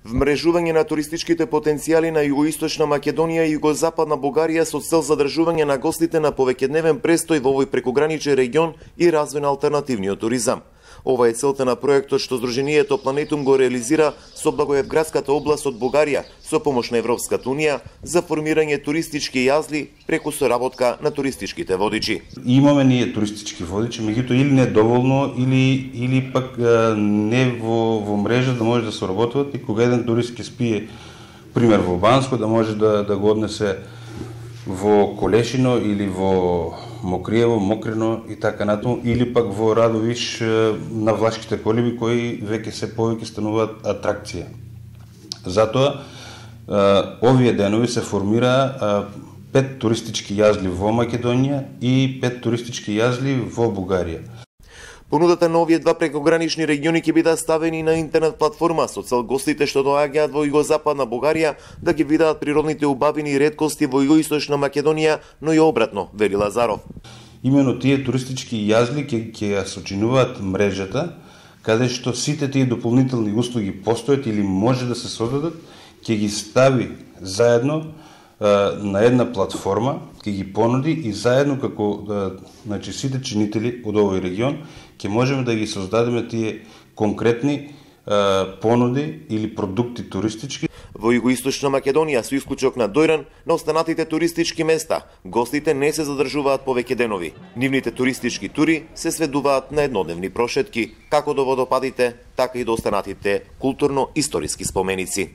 Вмрежување на туристичките потенцијали на југоисточна Македонија и југозападна Бугарија со цел задржување на гостите на повеќедневен престој во овој прекограничен регион и развој на алтернативниот туризам. Ова е целта на проектот што Сдруженијето Планетум го реализира со Благоевградската област од Бугарија со помош на Европската унија за формирање туристички јазли преку соработка на туристичките водичи. Имаме ние туристички водичи, меѓутоа или не доволно или пак не во мрежа да може да се работат и кога еден турист ќе спие пример во Банско да може да го однесе во Колешино или во Мокриево, Мокрино и така натаму, или пак во Радовиш на Влашките колиби кои веќе се повеќе стануваат атракција. Затоа овие денови се формира 5 туристички јазли во Македонија и 5 туристички јазли во Бугарија. Понудата на овие два прекогранични региони ќе бидат ставени на интернет платформа со цел гостите што доаѓаат во југозападна Бугарија да ги видат природните убавини и реткости во југоисточна Македонија, но и обратно, вели Лазаров. Имено тие туристички јазли ќе ја сочинуваат мрежата, каде што сите тие дополнителни услуги постојат или може да се создадат, ќе ги стави заедно на една платформа, ќе ги понуди и заедно како значи сите чинители од овој регион ќе можеме да ги создадеме тие конкретни понуди или продукти туристички. Во југоисточна Македонија, со исклучок на Дојран, на останатите туристички места, гостите не се задржуваат повеќе денови. Нивните туристички тури се сведуваат на еднодневни прошетки, како до водопадите, така и до останатите културно-историски споменици.